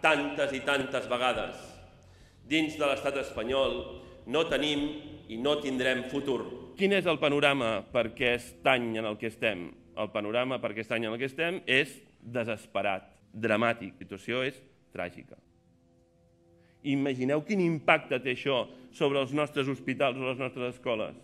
tantes i tantes vegades. Dins de l'estat espanyol no tenim i no tindrem futur. Quin és el panorama per aquest any en el que estem? El panorama per aquest any en el que estem és desesperat, dramàtic. La situació és tràgica. Imagineu quin impacte té això sobre els nostres hospitals o les nostres escoles.